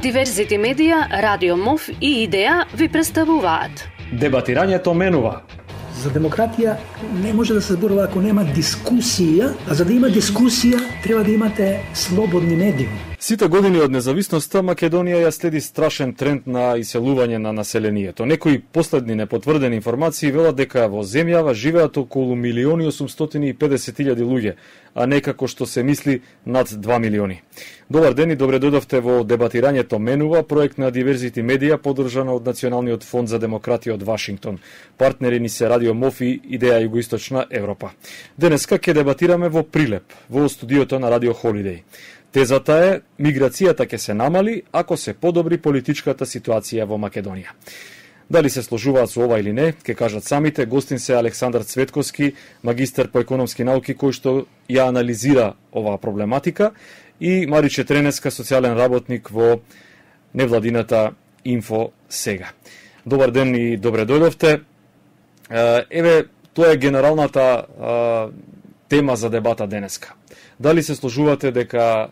Диверзити медија, Радио МОВ и Идеја ви представуваат Дебатирањето менува. За демократија не може да се зборува ако нема дискусија, а за да има дискусија треба да имате слободни медиуми. Сите години од независноста Македонија ја следи страшен тренд на иселување на населението. Некои последни непотврдени информации велат дека во земјава живеат околу 1.850.000 луѓе, а не како што се мисли над 2 милиони. Добар ден и добре дојдовте во Дебатирањето менува, проект на Диверзити медија поддржана од Националниот фонд за демократија од Вашингтон. Партнери ни се Радио МОВ и Идеја Југоисточна Европа. Денеска ќе дебатираме во Прилеп, во студиото на Радио Холидеј. Тезата е, миграцијата ќе се намали ако се подобри политичката ситуација во Македонија. Дали се сложуваат со ова или не, ќе кажат самите. Гостин се Александар Цветковски, магистар по економски науки, кој што ја анализира оваа проблематика, и Мариче Тренеска, социјален работник во невладината Инфо Сега. Добар ден и добре дојдовте. Еве, тоа е генералната тема за дебата денеска. Дали се сложувате дека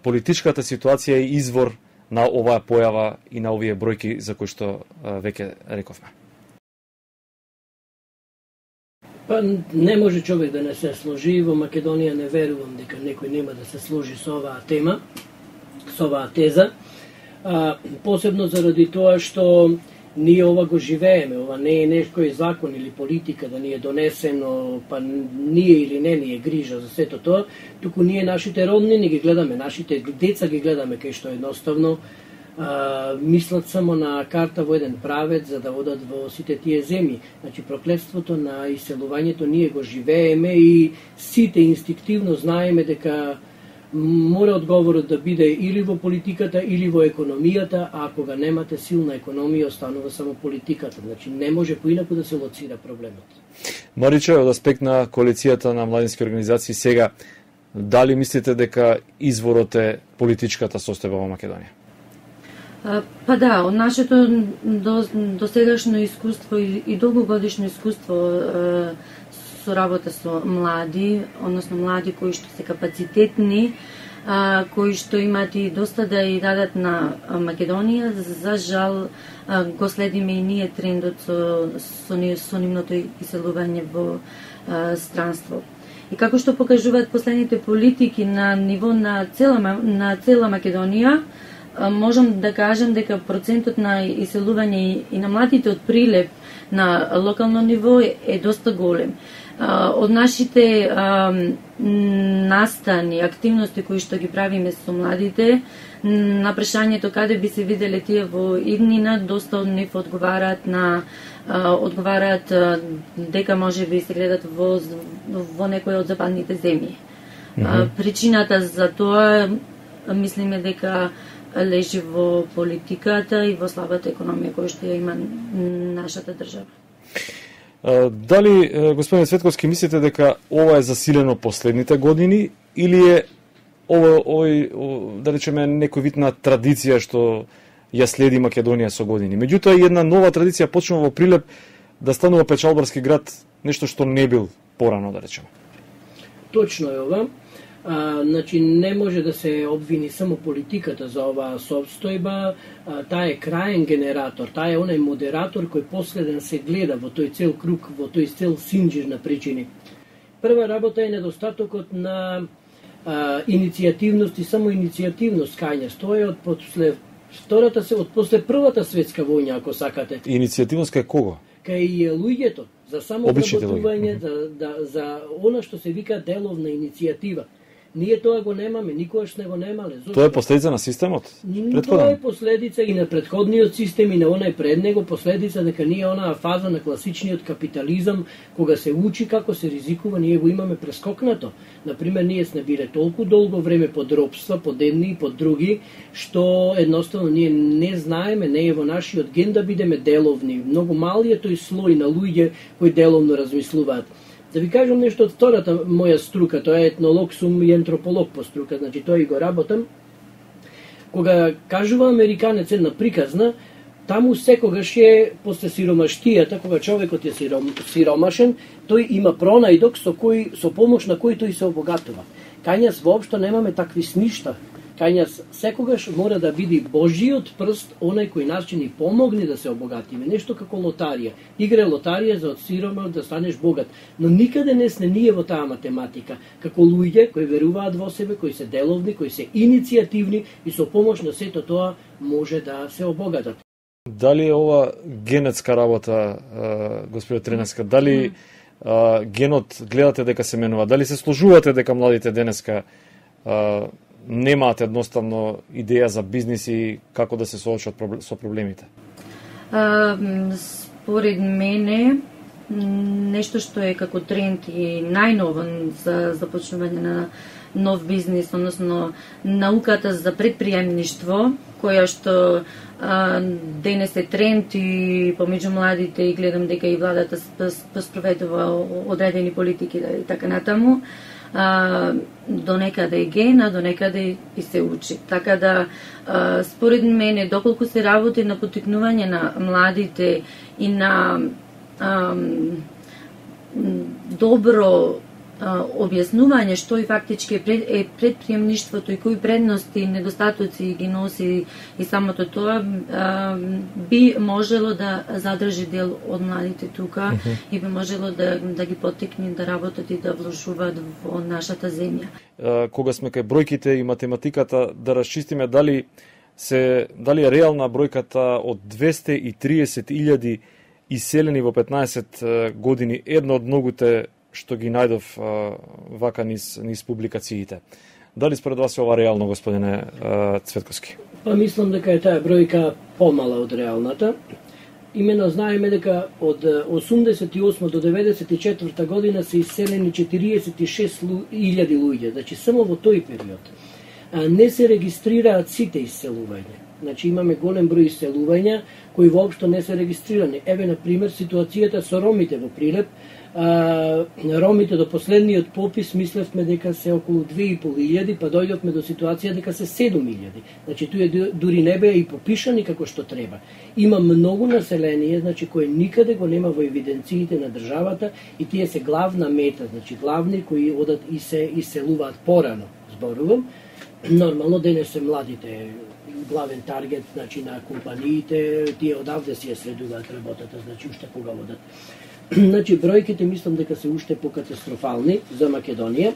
политичката ситуација е извор на оваа појава и на овие бројки за кои што веќе рековме? Па не може човек да не се сложи. Во Македонија не верувам дека некој нема да се сложи со оваа тема, со оваа теза. Посебно заради тоа што ние ова го живееме, ова не е некој закон или политика да ни е донесено, па ние или не ни е грижа за сето тоа, туку ние нашите роднини ги гледаме, нашите деца ги гледаме кај што едноставно мислат само на карта во еден правец за да одат во сите тие земји. Значи проклетството на иселувањето ние го живееме и сите инстинктивно знаеме дека мора одговорот да биде или во политиката, или во економијата, а ако ga немате силна економија, останува само политиката. Значи не може поинаку да се лоцира проблемот. Мариче, од аспект на коалицијата на младински организации сега, дали мислите дека изворот е политичката состојба во Македонија? Па да, од нашето досегашно искуство и долгогодишно искуство со работа со млади, односно млади кои што се капацитетни, кои што имаат и доста да и дадат на Македонија, за жал го следиме и ние трендот со нивното иселување во странство. И како што покажуваат последните политики на ниво на цела Македонија, можам да кажам дека процентот на иселување и на младите од Прилеп на локално ниво е доста голем. Од нашите настани, активности кои што ги правиме со младите, на прашањето каде би се виделе тие во иднина, доста од нив одговараат дека може би се гледат во некој од западните земји. Причината за тоа мислиме дека лежи во политиката и во слабата економија која што ја има нашата држава. Дали, господин Цветковски, мислите дека ова е засилено последните години или е овој, да речеме, некој вид на традиција што ја следи Македонија со години? Меѓутоа, една нова традиција почнува во Прилеп да станува печалбарски град, нешто што не бил порано, да речеме. Точно е ова. Значи, не може да се обвини само политиката за оваа состојба, таа е краен генератор, таа е онај модератор кој последен се гледа во тој цел круг, во тој цел синџир на причини. Прва работа е недостатокот на иницијативност и само иницијативност кај тоа е од после Првата светска војна, ако сакате. Иницијативност кај кого? Кај луѓето, за само обработување, за она што се вика деловна иницијатива. Ние тоа го немаме, никогаш не го немале. Тоа е последица на системот? Тоа е последица и на претходниот систем и на онај пред него, последица дека ние онаа фаза на класичниот капитализам, кога се учи како се ризикува, ние го имаме прескокнато. Например, ние сме биле толку долго време под робства, под едни и под други, што едноставно ние не знаеме, не е во нашиот ген да бидеме деловни. Многу мали е тој слој на луѓе кои деловно размислуваат. Да ви кажам нешто од втората моја струка, тоа е етнолог сум и антрополог по струка, значи тоа и го работам. Кога кажува американец една приказна, таму секогаш е после сиромаштијата, кога човекот е сиромашен, тој има пронајдок со помош на кој тој се обогатува. Кај нас воопшто немаме такви сништа. Кај нас секогаш мора да биде Божиот прст, онај кој нас ни помогне да се обогатиме. Нешто како лотарија. Игра лотарија за од сиромах да станеш богат. Но никаде не сме ние во таа математика. Како луѓе кои веруваат во себе, кои се деловни, кои се иницијативни и со помош на сето тоа може да се обогатат. Дали е ова генетска работа, господи Тренеска? Дали генот гледате дека се менува? Дали се сложувате дека младите денеска немаат едноставно идеја за бизнис и како да се соочат со проблемите? Според мене, нешто што е како тренд и најново за започнување на нов бизнис, односно науката за предприемништво, која што денес е тренд и помеѓу младите, и гледам дека и владата спроведува одредени политики и така натаму, до некаде е гена, до некаде и се учи. Така да, според мене, доколку се работи на поттикнување на младите и на добро објаснување што и фактички е предприемништвото и кои предности и недостатоци ги носи и самото тоа, би можело да задржи дел од младите тука и би можело да ги поттикне да работат и да вложуваат во нашата земја. Кога сме кај бројките и математиката, да расчистиме дали е реална бројката од 230.000 иселени во 15 години, едно од многуте што ги најдов вака низ публикациите. Дали според вас е ова реално, господине Цветковски? Па мислам дека е таа бројка помала од реалната. Имено знаеме дека од 88 до 94 година се иселени 46.000 луѓе, значи само во тој период. Не се регистрираат сите иселувања. Значи имаме голем број иселувања кои воопшто не се регистрирани. Еве на пример ситуацијата со ромите во Прилеп. Ромите до последниот попис мислевме дека се околу 2.500, па дојдовме до ситуација дека се 7.000. Значи туе дури не беа и попишани како што треба. Има многу население, значи кое никаде го нема во евиденциите на државата и тие се главна мета, значи главни кои одат и се иселуваат порано, зборувам. Нормално денес се младите главен таргет, значи на компаниите, тие одавде си ја следуваат работата, значи уште кога одат. Значи, бројките мислам дека се уште покатастрофални за Македонија,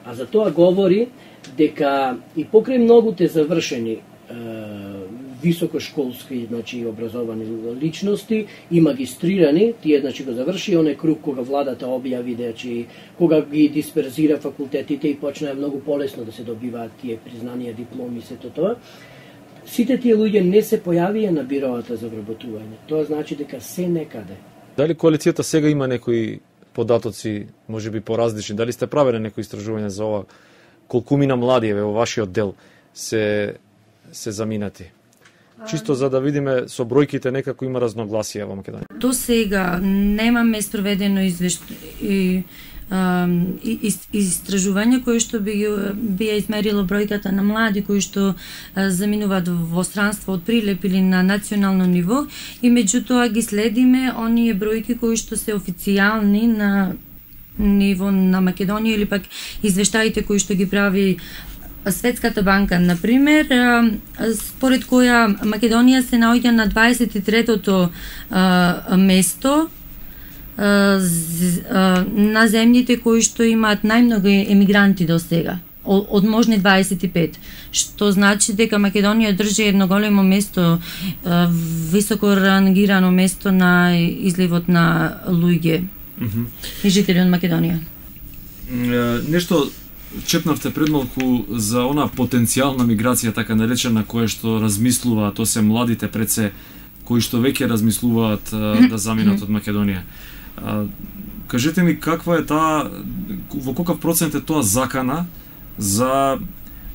а за тоа говори дека и покрај многуте завршени високошколски, значи образовани личности и магистрирани, тие значи го заврши оној круг кога владата објави, значи кога ги дисперзира факултетите и почнаа многу полесно да се добиваат тие признанија, дипломи и сето тоа. Сите тие луѓе не се појавија на бироата за вработување. Тоа значи дека се некаде. Дали коалицијата сега има некои податоци, можеби поразлични? Дали сте правеле некои истражување за ова? Колкумина млади во вашиот дел се заминати? Чисто за да видиме со бројките некако има разногласија во Македонија. До сега немаме спроведено истражување кој што би ја измерило бројката на млади кои што заминуваат во странство од Прилеп или на национално ниво и меѓутоа ги следиме оние бројки кои што се официјални на ниво на Македонија или пак извештаите кои што ги прави Светската банка, например, според која Македонија се наоѓа на 23-тото место на земјите кои што имаат најмногу емигранти до сега, од можни 25, што значи дека Македонија држи едно големо место, високо рангирано место на изливот на луѓе и жители од Македонија. Нешто чепнавте пред малку за она потенцијална миграција, така наречена, која што размислуваат, то се младите пред се, кои што веќе размислуваат да заминат од Македонија. Кажете ми каква е таа, во каков процент е тоа закана за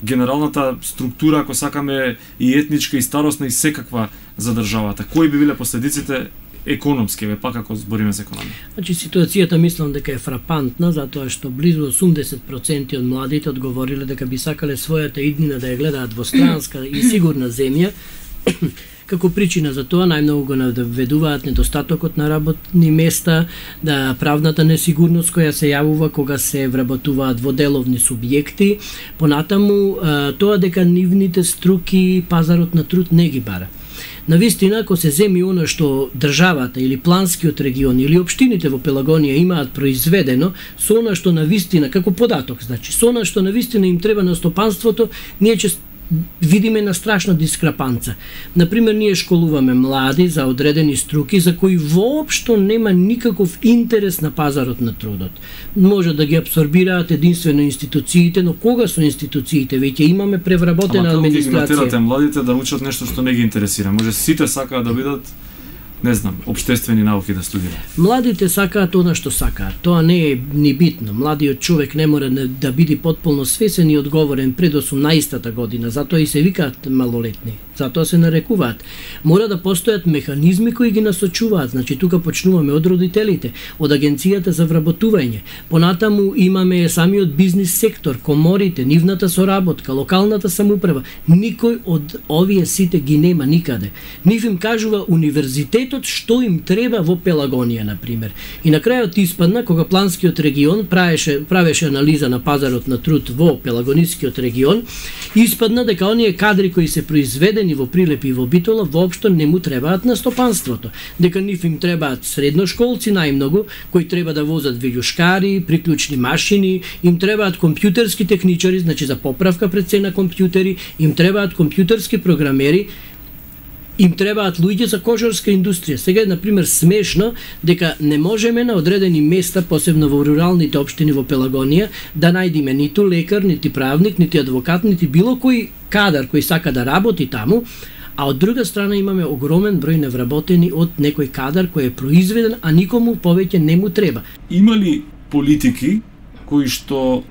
генералната структура, ако сакаме и етничка, и старосна, и секаква за државата? Кои би биле последиците економски, пак ако збориме за економија? Значи ситуацијата мислам дека е фрапантна, затоа што близу 80% од младите одговориле дека би сакале својата иднина да ја гледаат во странска и сигурна земја, Како причина за тоа најмногу го наведуваат недостатокот на работни места, да правната несигурност која се јавува кога се вработуваат во деловни субјекти, понатаму тоа дека нивните струки пазарот на труд не ги бара. Навистина, ако се земи оно што државата или планскиот регион или општините во Пелагонија имаат произведено, со оно што навистина, како податок, значи, со оно што навистина им треба на стопанството, ние ќе видиме на страшна дискрапанца. Например, ние школуваме млади за одредени струки за кои воопшто нема никаков интерес на пазарот на трудот. Може да ги абсорбираат единствено институциите, но кога со институциите? Веќе имаме превработена администрација. Ама како ги натерате младите да учат нешто што не ги интересира? Може сите сакаат да бидат, не знам, обштествени науки да студираат. Младите сакаат она што сакаат. Тоа не е ни битно. Младиот човек не мора да биде потполно свесен и одговорен пред 18-та година, затоа и се викаат малолетни. Затоа се нарекуваат. Мора да постојат механизми кои ги насочуваат. Значи тука почнуваме од родителите, од агенцијата за вработување. Понатаму имаме самиот бизнис сектор, коморите, нивната соработка, локалната самоуправа. Никој од овие сите ги нема никаде. Нив им кажува универзитетот што им треба во Пелагонија, например. И на крајот испадна кога планскиот регион правеше анализа на пазарот на труд во Пелагонискиот регион, испадна дека оние кадри кои се произведени во Прилепи и во Битола воопшто не му требаат на стопанството. Дека нив им требаат средношколци најмногу, кои треба да возат вилјушкари, приклучни машини, им требаат компјутерски техничари, значи за поправка пред се на компјутери, им требаат компјутерски програмери, им требаат луѓе за кожарска индустрија. Сега е, например, смешно дека не можеме на одредени места, посебно во руралните општини во Пелагонија, да најдиме ниту лекар, нити правник, нити адвокат, нити било кој кадар кој сака да работи таму, а од друга страна имаме огромен број невработени од некој кадар кој е произведен, а никому повеќе не му треба. Има ли политики кои што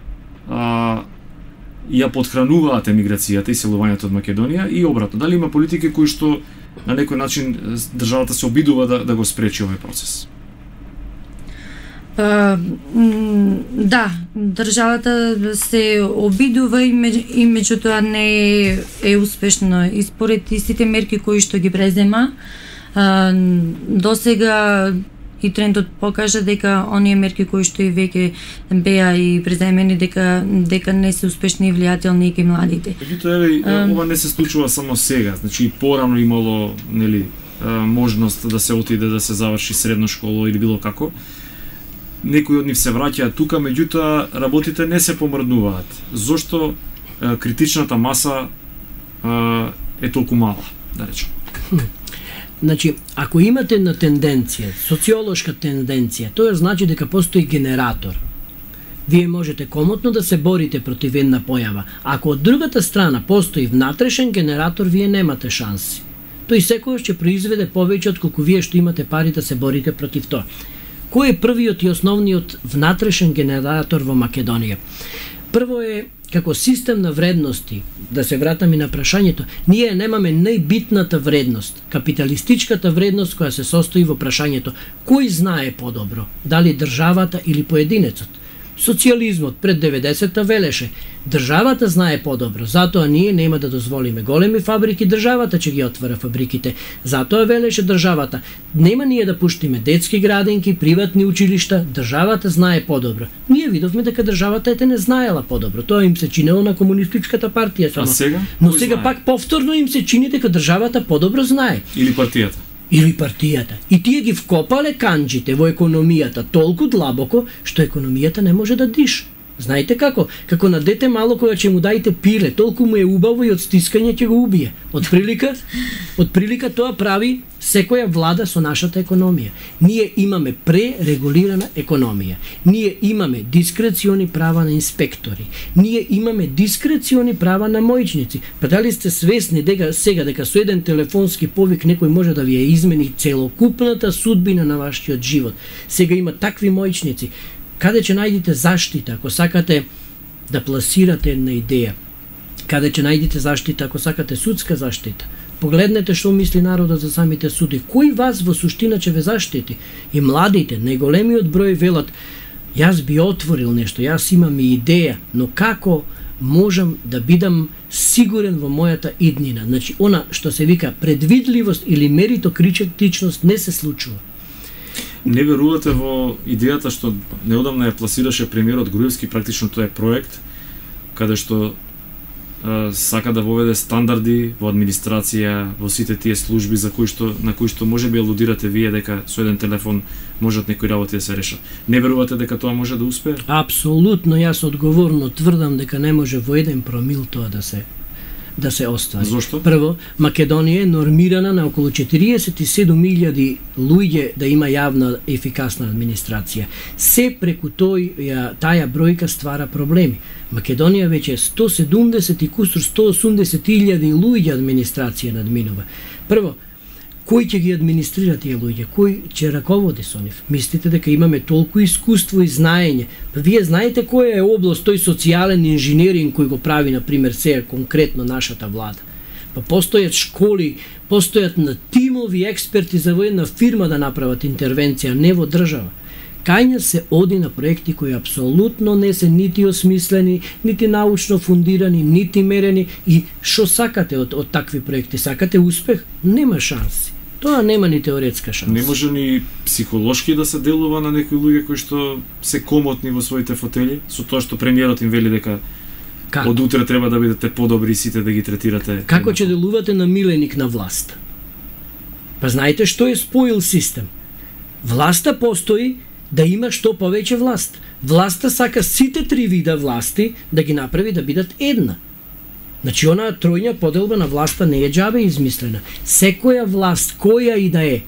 ја подхрануваат емиграцијата и селувањето од Македонија и обратно? Дали има политики кои што на некој начин државата се обидува да го спречи овој процес? Да, државата се обидува и меѓутоа не е успешно. И според истите мерки кои што ги презема, досега и трендот покажа дека оние мерки кои што и веќе беа и преземени дека не се успешни и влијателни и кај младите. Меѓутоа, ова не се случува само сега, значи порано имало, нели, можност да се отиде да се заврши средно школа или било како. Некои од нив се враќаат тука, меѓутоа работите не се помрднуваат. Зошто критичната маса е толку мала, да речем? Значи, ако имате една тенденција, социолошка тенденција, тоа значи дека постои генератор. Вие можете комотно да се борите против една појава. Ако од другата страна постои внатрешен генератор, вие немате шанси. Тој секојаш ќе произведе повеќе од колку вие што имате пари да се борите против тоа. Кој е првиот и основниот внатрешен генератор во Македонија? Прво е како систем на вредности, да се вратам и на прашањето, ние немаме најбитната вредност, капиталистичката вредност која се состои во прашањето кој знае подобро, дали државата или поединецот. Социјализмот пред 90-та велеше државата знае подобро, затоа ние нема да дозволиме големи фабрики, државата ќе ги отвара фабриките. Затоа велеше државата, нема ние да пуштиме детски градинки, приватни училишта, државата знае подобро. Ние видовме дека државата ете не знаела подобро. Тоа им се чинело на комунистичката партија само. А сега? Но сега пак повторно им се чини дека државата подобро знае. Или партијата. Или партијата. И тие ги вкопале канџите во економијата толку длабоко, што економијата не може да диша. Знаете како? Како на дете мало кога ќе му дајте пиле, толку му е убаво и од стискање ќе го убие. Од прилика тоа прави секоја влада со нашата економија. Ние имаме пререгулирана економија. Ние имаме дискрециони права на инспектори. Ние имаме дискрециони права на мојчници. Па дали сте свесни дека сега дека со еден телефонски повик некој може да ви ја измени целокупната судбина на вашиот живот? Сега има такви мојчници. Каде ќе најдете заштита ако сакате да пласирате една идеја? Каде ќе најдете заштита ако сакате судска заштита? Погледнете што мисли народот за самите суди. Кој вас во суштина ќе ве заштити? И младите, најголемиот број велат, јас би отворил нешто, јас имам и идеја, но како можам да бидам сигурен во мојата иднина. Значи, она што се вика предвидливост или меритокритичност не се случува. Не верувате во идејата што неодамна ја пласираше премиерот Груевски, практично тоа е проект каде што сака да воведе стандарди во администрација, во сите тие служби на кои што можеби алудирате вие дека со еден телефон можат некои работи да се решат. Не верувате дека тоа може да успее? Апсолутно, јас одговорно тврдам дека не може во 1 промил тоа да се оствари. Зошто? Прво, Македонија е нормирана на околу 47.000 луѓе да има јавна ефикасна администрација. Се преку таа бројка ствара проблеми. Македонија веќе е 170 и кусур 180.000 луѓе администрација надминува. Прво, кој ќе ги администрира тие луѓе? Кој ќе раководи со нив? Мислите дека имаме толку искуство и знаење? Па вие знаете која е област тој социјален инженеринг кој го прави, на пример, сега конкретно нашата влада? Па постојат школи, постојат на тимови експерти за во една фирма да направат интервенција, не во држава. Кај се оди на проекти кои апсолутно не се нити осмислени, нити научно фундирани, нити мерени. И што сакате од такви проекти? Сакате успех? Нема шанси. Тоа нема ни теоретска шанса. Не може ни психолошки да се делува на некои луѓе кои што се комотни во своите фотели, со тоа што премиерот им вели дека од утре треба да бидете подобри сите да ги третирате. Како ќе делувате на миленик на власт? Па знаете што е споил систем? Власта постои да има што повеќе власт. Власта сака сите 3 вида власти да ги направи да бидат една. Значи, онаа тројна поделба на власта не е џабе измислена. Секоја власт, која и да е,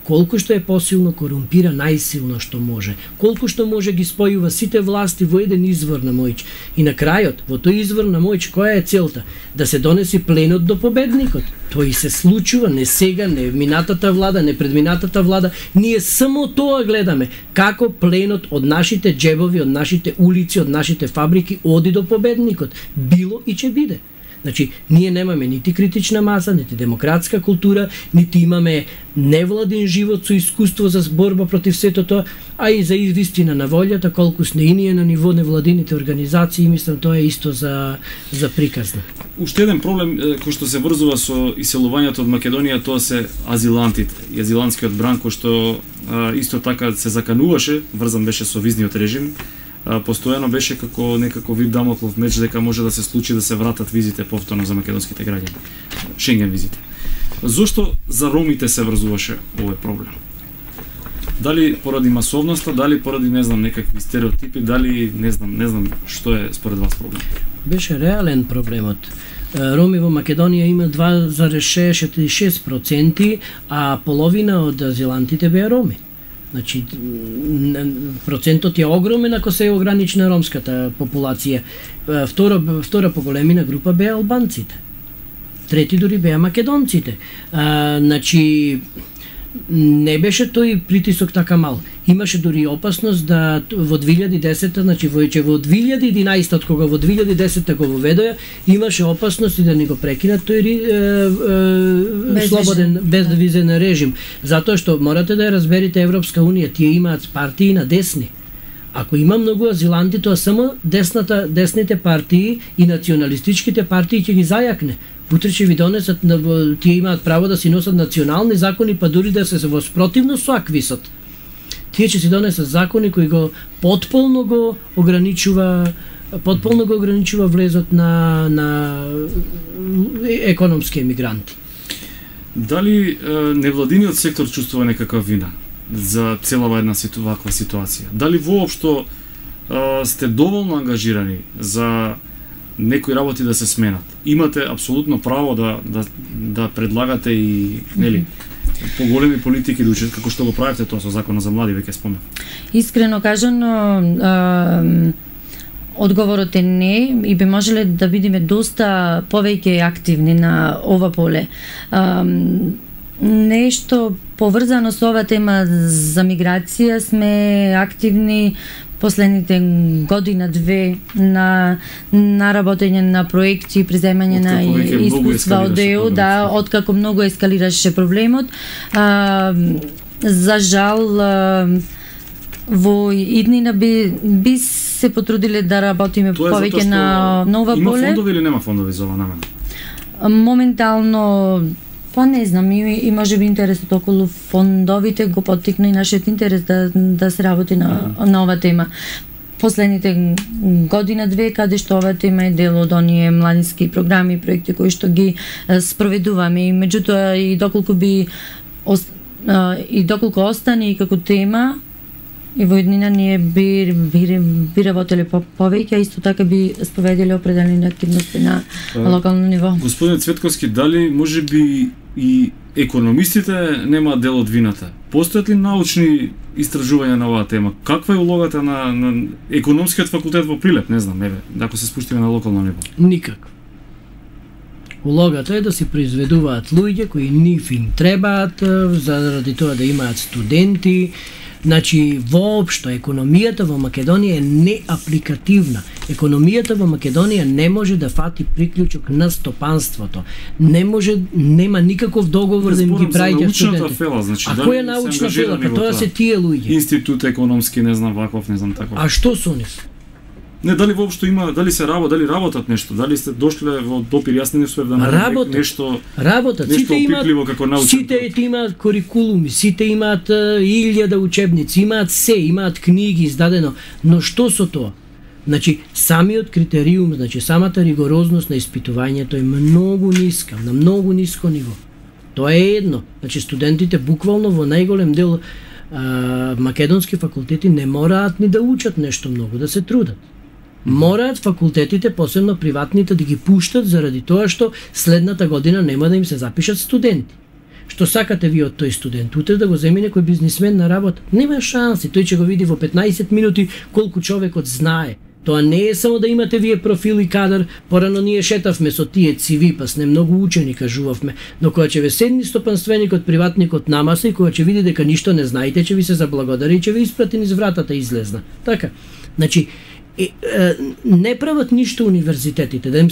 колку што е посилно, корумпира најсилно што може. Колку што може ги спојува сите власти во еден извор на моќ. И на крајот, во тој извор на моќ, која е целта? Да се донеси пленот до победникот. Тој се случува не сега, не минатата влада, не предминатата влада. Ние само тоа гледаме. Како пленот од нашите џебови, од нашите улици, од нашите фабрики оди до победникот. Било и ќе биде. Значи, ние немаме нити критична маса, нити демократска култура, нити имаме невладин живот со искуство за борба против сето тоа, а и за вистина на волјата, колку сне и ние на ниво невладините организации, мислам тоа е исто за приказна. Уште еден проблем кој што се врзува со иселувањето од Македонија, тоа се азилантите и азилантскиот бран, кој што исто така се закануваше, врзан беше со визниот режим, постојано беше како некако вид дамоклов меч дека може да се случи да се вратат визите повторно за македонските граѓани, Шенген визите. Зошто за ромите се врзуваше овој проблем? Дали поради масовноста, дали поради некакви стереотипи, дали не знам што е според вас проблем? Беше реален проблемот. Роми во Македонија има 2,66%, а половина од азилантите беа роми. Значи, процентот е огромен ако се ограничи на ромската популација. Втора по големина група беа албанците. Трети дури беа македонците. Значи, не беше тој притисок така мал. Имаше дури опасност да во 2010, значи во 2011, кога во 2010 го воведоа, имаше опасност и да не го прекинат тој слободен безвизен режим, затоа што морате да ја разберете Европска унија, тие имаат партии на десни. Ако има многу азиланти, тоа само десните партии и националистичките партии ќе ги зајакне. Утре ќе ви донесат, тие имаат право да си носат национални закони, па дури да се во спротивност со аквисот. Тие ќе си донесат закони кои го потполно го ограничува влезот на економски емигранти. Дали невладиниот сектор чувствува некаква вина за целава една ваква ситуација? Дали воопшто сте доволно ангажирани за некои работи да се сменат? Имате апсолутно право да предлагате и поголеми политики да учат, како што го правите тоа со законот за млади, веќе спомнав. Искрено кажано, одговорот е не и би можеле да бидеме доста повеќе активни на ова поле. Нешто поврзано со ова тема за миграција сме активни последните година-две на работење на проекти, приземање на искуства од ЕУ, откако многу ескалираше проблемот. За жал, во иднина би се потрудиле да работиме Тоа е повеќе на ова има поле. Има фондови или нема фондови за ова намена? Моментално, па не знам, и може би интересот околу фондовите го поттикна и нашиот интерес да се работи на ова тема. Последните година-две, каде што ова тема е дел од оние младински програми и проекти кои што ги спроведуваме, и меѓутоа и доколку остане и како тема, и во еднина ние би работеле повеќе, а исто така би споведиле определени активности на локално ниво. Господин Цветковски, дали може би и економистите немаат дел од вината? Постојат ли научни истражувања на оваа тема? Каква е улогата на економскиот факултет во Прилеп? Не знам, ако се спуштиме на локално ниво. Никак. Улогата е да се произведуваат луѓе кои нив им требаат, заради тоа да имаат студенти. Значи, воопшто, економијата во Македонија е неапликативна. Економијата во Македонија не може да фати приклучок на стопанството. Нема никаков договор да им ги праќа студенти. Фела, значи, а која научна фела? Тоа се тие луѓе. Институт економски, не знам ваков, не знам таков. А што со нив? Не, дали воопшто има, дали работат нешто, дали сте дошле во допир, јас не успев да најдам нешто. Работат, нешто опипливо како научен. Сите имаат курикулуми, сите имаат 1000 учебници, имаат имаат книги издадено, но што со тоа? Значи, самиот критериум, значи самата ригорозност на испитувањето е многу ниска, на многу ниско ниво. Тоа е едно. Значи, студентите буквално во најголем дел македонски факултети не мораат ни да учат нешто многу, да се трудат. Мораат факултетите, посебно приватните, да ги пуштат заради тоа што следната година нема да им се запишат студенти. Што сакате ви од тој студент? Утре да го земи некој бизнисмен на работа? Нема шанси, тој ќе го види во 15 минути колку човекот знае. Тоа не е само да имате вие профил и кадар, порано ние шетавме со тие CV, па сне многу учени кажувавме, но кога ќе ве седни стопанственикот, приватникот намаса и кога ќе види дека ништо не знаете, ќе ви се заблагодари и ќе ве испрати низ вратата излезна. Така, значи, не прават ништо универзитетите, да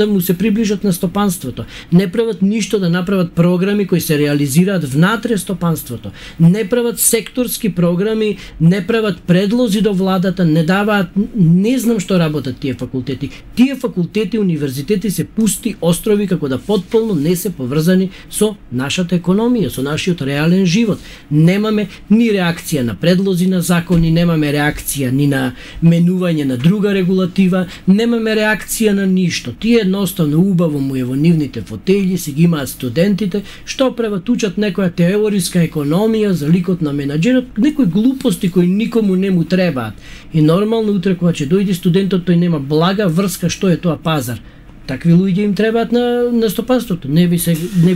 му се приближат на стопанството. Не прават ништо да направат програми кои се реализираат внатре стопанството. Не прават секторски програми, не прават предлози до владата, не даваат, не знам што работат тие факултети. Тие факултети, универзитети се пусти острови како да потполно не се поврзани со нашата економија, со нашиот реален живот. Немаме ни реакција на предлози на закони, немаме реакција ни на менување на друга регулатива, немаме реакција на ништо. Тие едноставно убаво му е во нивните фотели, си ги имаат студентите, што прават, учат некоја теориска економија за ликот на менаџерот, некои глупости кои никому не му требаат. И нормално утре кога ќе дојде студентот, тој нема блага врска што е тоа пазар. Такви луѓе им требаат на стопанството. Не би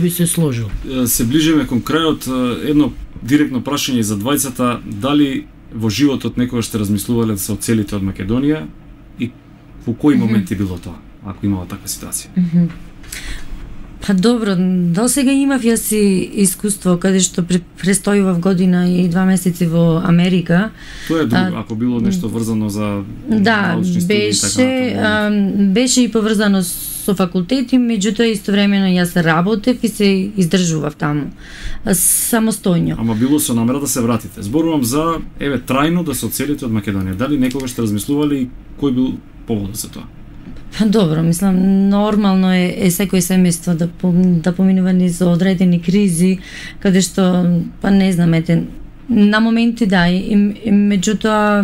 се сложил. Се ближиме кон крајот. Едно директно прашање за двајцата, дали во животот некогаш сте размислувале да се оцелите од Македонија и во кои моменти било тоа, ако имала таква ситуација? Па добро, до сега имав јас и искуство каде што престојував година и 2 месеци во Америка. Тоа е друго, ако било нешто врзано за научни студии и така. Беше и поврзано со факултети, меѓутоа истовремено јас работев и се издржував таму самостојно. Ама било со намера да се вратите. Зборувам за трајно да се оцелите од Македонија. Дали некогаш сте размислували и кој бил поводот за тоа? Добро, мислам, нормално е секој семејство да поминува низ одредени кризи, каде што, па не знам, на моменти да, и меѓутоа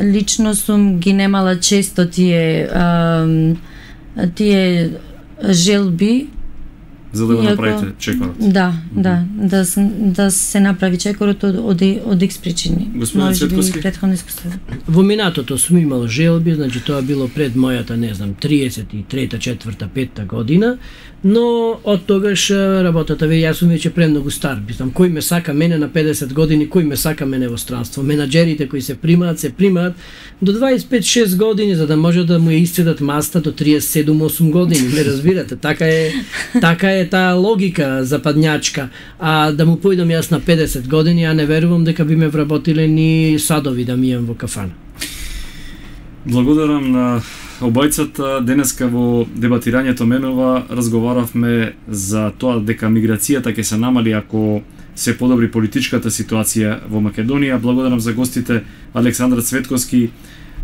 лично сум ги немала често тие желби. За да го направите чекорот. Да се направи чекорот од X причини. Господин Цветковски, претходно искуство. Во минатото сум имал желби, значи тоа било пред мојата, не знам, 33-та, 4-та, 5-та година, но од тогаш работата јас сум веќе премногу стар. Мислам, кој ме сака мене на 50 години, кој ме сака мене во странство. Менаџерите кои се примаат до 25-6 години за да може да му ја исцедат маста до 37-8 години. Не разбирате, така е таа логика западњачка. А да му појдам јас на 50 години, ја не верувам дека би ме вработиле ни садови да мијам во кафана. Благодарам на обајцата. Денеска во дебатирањето менува разговаравме за тоа дека миграцијата ќе се намали ако се подобри политичката ситуација во Македонија. Благодарам за гостите Александра Цветковски,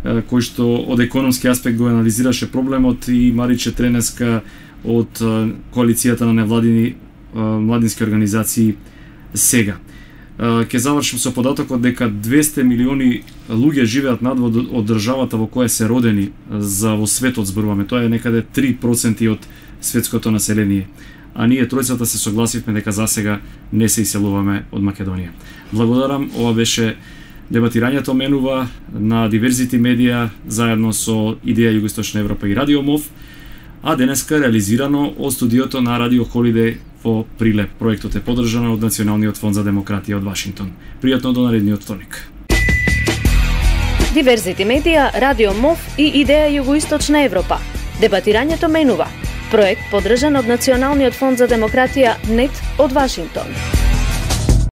кој што од економски аспект го анализираше проблемот, и Мариче Тренеска од коалицијата на невладини младински организации Сега. Ке завршим со податокот дека 200 милиони луѓе живеат надвор од државата во која се родени, за во светот зборуваме. Тоа е некаде 3% од светското население. А ние тројцата се согласивме дека засега не се иселуваме од Македонија. Благодарам, ова беше дебатирањето менува на Diversity Media заедно со Идеја Југоисточна Европа и Радио МОВ, а денеска реализирано од студиото на Радио Холидеј во Прилеп. Проектот е поддржан од Националниот фонд за демократија од Вашингтон. Пријатно до наредниот вторник. Diversity Media, Радио МОВ и Идеја Југоисточна Европа. Дебатирањето менува. Проект поддржан од Националниот фонд за демократија НЕТ од Вашингтон.